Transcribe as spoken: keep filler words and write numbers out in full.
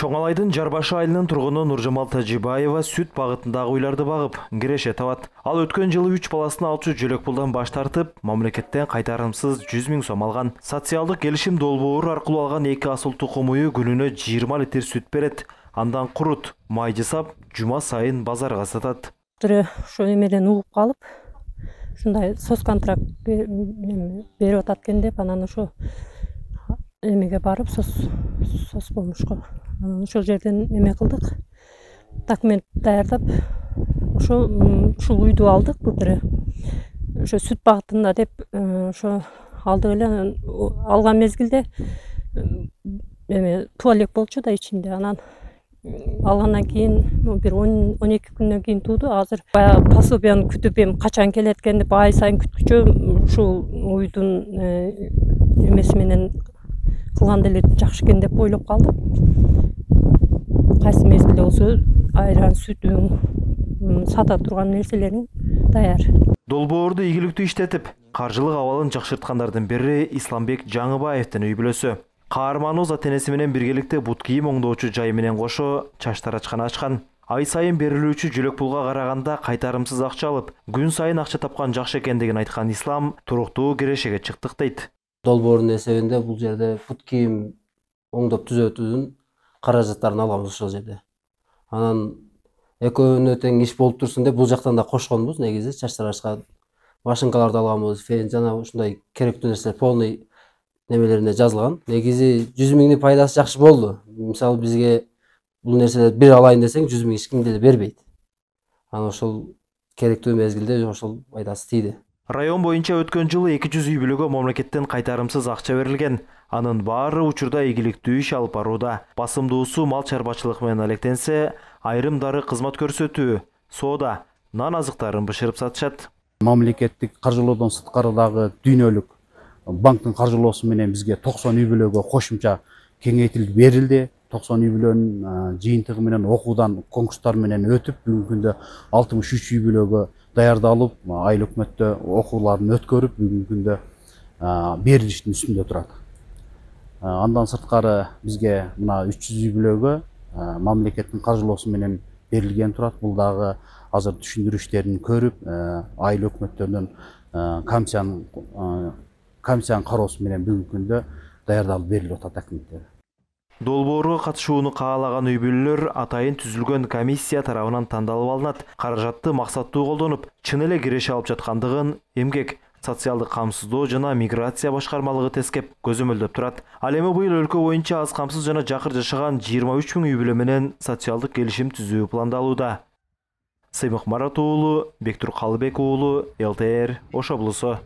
Чоңалайдын Жарбашы айылынын тургуну Нуржамал Тажибаева сүт багытындагы уйларды багып, киреше табат. Ал өткөн жылы үч баласын алчу жөлөк пулдан баш тартып, мамлекеттен кайтарымсыз жүз миң сом алган. Социалдык келишим долбоору аркылуу алган эки асыл тукум ую күнүнө жыйырма литр сүт берет. Андан курут, май жасап, жума сайын базарга сатат. Ошо эмеден угуп калып, ушундай соц контракт берип атат экен деп, анан ошо эмеге барып, соц помошко ошол жерден эме кылдык, документ даярдап, ошо ушул үйдү алдык. Бул ошо сүт багытында деп ошо алдык эле. Алган мезгилде эме туалет болчу да ичинде. Анан алгандан кийин бир он эки күндөн кийин тууду. Азыр баягы пособияны күтүп, эми качан келет экен деп ай сайын күткүчө, ушул уйдун эмеси менен кылганда эле жакшы экен деп ойлоп калдым. Кайсы мезгилде болсо айран, сүтүң, сата турган нерселериң даяр. Долбоорду ийгиликтүү иштетип, каржылык абалын жакшырткандардын бири Исламбек Жаңыбаевдин үй бүлөсү. Каарманыбыз ата-энеси менен биргеликте бут кийим оңдоочу жай менен кошо чач тарачкана ачкан. Ай сайын берилүүчү жөлөк пулга караганда кайтарымсыз акча алып, күн сайын акча тапкан жакшы экендигин айткан Ислам туруктуу кирешеге чыктык дейт. Долбоордун эсебинде бул жерде бут кийим оңдоп түзөтүүнүн каражаттарын алганбыз ошол жерде. Анан экөөнө тең иш болуп турсун деп бул жактан да кошконбуз. Негизи чач тарачка машинкаларды алганбыз, фен жана ушундай керектүү нерселер полный немелерине жазылган. Негизи жүз миңдин пайдасы жакшы болду. Мисалы бизге бул нерселерди бир алайын десең жүз миң эч ким деле бербейт. Анан ошол керектүү мезгилде ошол пайдасы тийди. Район боюнча өткөн жылы эки жүз үй бүлөгө мамлекеттен кайтарымсыз акча берилген. Анын баары учурда ийгиликтүү иш алып барууда. Басымдуусу мал чарбачылык менен алектенсе, айрымдары кызмат көрсөтүү, соода, нан азыктарын бышырып сатышат. Мамлекеттик каржылоодон сырткарыдагы дүйнөлүк банктын каржылоосу менен бизге токсон үй бүлөгө кошумча кеңейтилип берилди. токсон үй бүлөнүн жыйынтыгы менен окуудан конкурстар менен өтүп, бүгүнкү күндө алтымыш үч үй бүлөгө даярдалып, айыл өкмөттө окууларын өткөрүп, бүгүнкү күндө берилиштин үстүндө турат. Андан сырткары бизге мына үч жүз үй бүлөгө мамлекеттин каржылоосу менен берилген турат. Бул дагы азыр түшүндүрүштөрүн көрүп, айыл өкмөттөрүнүн комиссиянын комиссиянын кароосу менен бүгүнкү күндө даярдалып берилип атат документтер. Долбоорго катышууну каалаган үй бүлөлөр атайын түзүлгөн комиссия тарабынан тандалып алынат. Каражатты максаттуу колдонуп, чын эле киреше алып жаткандыгын эмгек, социалдык камсыздоо жана миграция башкармалыгы тескеп көзөмөлдөп турат. Ал эми быйыл өлкө боюнча аз камсыз жана жакыр жашаган жыйырма үч миң үй бүлө менен социалдык келишим түзүү пландалууда. Сыймык Марат уулу, Бектур Калыбек уулу, эл тэ эр Ош облусу.